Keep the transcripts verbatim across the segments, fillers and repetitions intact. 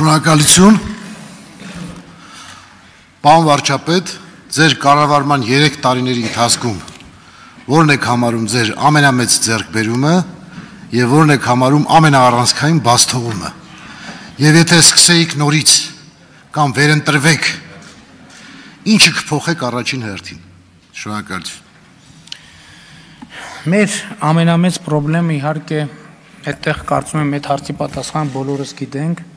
Շնորհակալություն, պարոն վարչապետ, ձեր կառավարման երեք տարիների ընթացքում որն եք համարում ձեր ամենամեծ ձեռքբերումը եւ որն եք համարում ամենաառանցքային բացթողումը։ Եվ եթե սկսեիք նորից կամ վերընտրվեք, ինչը կփոխեք առաջին հերթին։ Շնորհակալություն։ Մեր ամենամեծ խնդրեմը իհարկե այդտեղ կարծում եմ այդ հարցի պատասխան բոլորս գիտենք,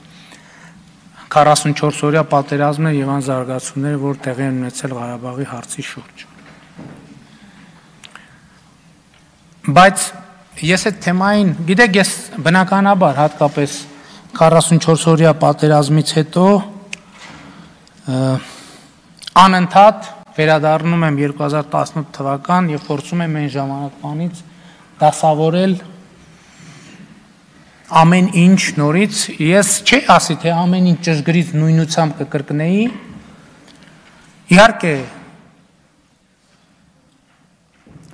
քառասունչորս օրյա պատերազմն եւ այն զարգացումները, որ տեղի են ունեցել Ղարաբաղի հարցի շուրջ։ Բայց ես այդ թեմային, գիտեք, ես բնականաբար հատկապես քառասունչորս օրյա պատերազմից հետո անընդհատ վերադառնում եմ երկու հազար տասնութ թվական եւ փորձում եմ այն ժամանակվանից դասավորել ամեն ինչ նորից, ես չի ասի, թե ամեն ինչ ճշգրիտ նույնությամբ կկրկնեի, իհարկե,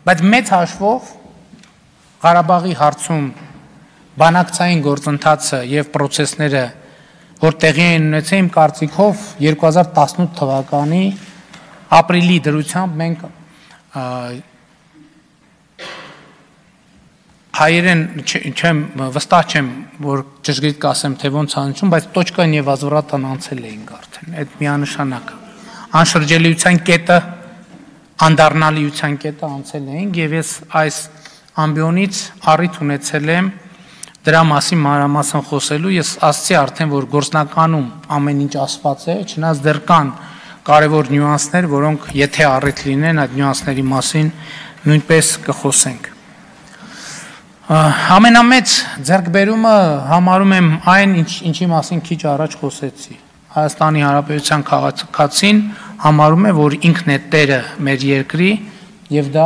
բայց մեծ հաշվով Ղարաբաղի հարցում բանակցային գործընթացը եւ պրոցեսները, որ տեղի են ունեցել, իմ կարծիքով երկու հազար տասնութ թվականի ապրիլի դրությամբ մենք հայերեն չեմ վստահ չեմ, որ ճշգրիտ կասեմ, թե ոնց անցում, բայց տոչկան եւ ազվրատան անցել էինք արդեն, այդ միանշանակ անշրջելիության կետը, անդառնալիության կետը անցել էինք եւ ես այս ամբիոնից առիթ ունեցել եմ դրա մասին մանրամասն խոսելու, ես ասացի արդեն, որ գործնականում ամեն ինչ ասված է, չնայած դեռ կան կարևոր նյուանսներ, որոնք եթե առիթ լինեն, այդ նյուանսների մասին նույնպես կխոսենք։ Ամենամեծ ձեռքբերումը համարում եմ այն, ինչի մասին քիչ առաջ խոսեցի։ Հայաստանի Հանրապետության քաղաքացին համարում է, որ ինքն է տերը մեր երկրի եւ դա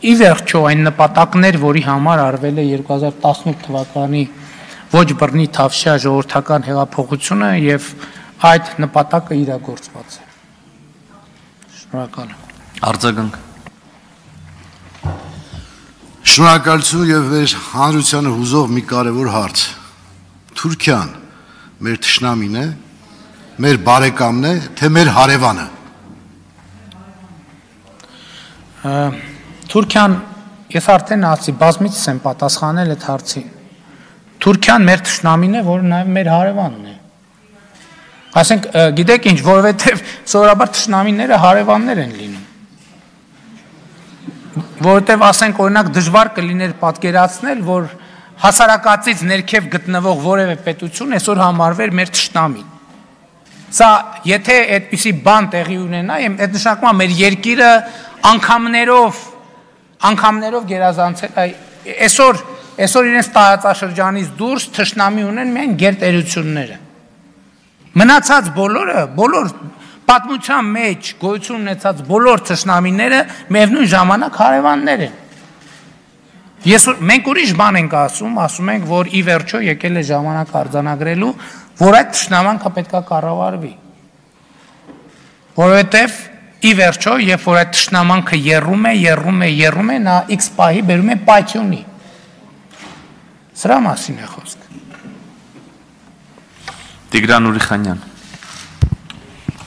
ի վերջո այն նպատակներ, որի համար արվել է երկու հազար տասնութ թվականի ոչ բռնի թավշյա ժողովրդական հեղափոխությունը եւ այդ նպատակը իրագործված է։ Շնորհակալ եմ։ Արձագանք։ Շնորհակալություն եւ մեր հանրությանը հուզող մի կարևոր հարց։ Թուրքիան մեր թշնամին է, մեր բարեկամն է, թե մեր հարևանը։ Թուրքիան, ես արդեն ասացի, բազմիցս եմ պատասխանել այդ հարցին։ Թուրքիան մեր թշնամին է, որը նաեւ մեր հարևանն է։ Ասենք, գիտեք ինչ, որովհետեւ սովորաբար թշնամիները հարևաններ են լինում։ Որովհետև ասենք օրինակ դժվար կլիներ պատկերացնել, որ հասարակածից ներքև գտնվող որևէ պետություն այսօր համարվեր մեր թշնամին։ Սա եթե այդպիսի բան տեղի ունենա, այդ նշանակում է մեր երկիրը անգամներով անգամներով գերազանցել, այսօր այսօր իրենց տարածաշրջանից դուրս թշնամի ունեն միայն գերտերությունները։ Մնացած բոլորը, բոլոր պատմության մեջ գոյություն ունեցած բոլոր թշնամիները միևնույն ժամանակ հարևաններ են։ Ես մենք ուրիշ բան ենք ասում, ասում ենք, որ ի վերջո եկել է ժամանակ արձանագրելու, որ այդ թշնամանքը պետքա կառավարվի։ Որովհետև ի վերջո, երբ որ այդ թշնամանքը եռում է, եռում է, եռում է, նա X պահի բերում է պայթյունի։ Սրա մասին է խոսքը։ Տիգրան Ուրիխանյան։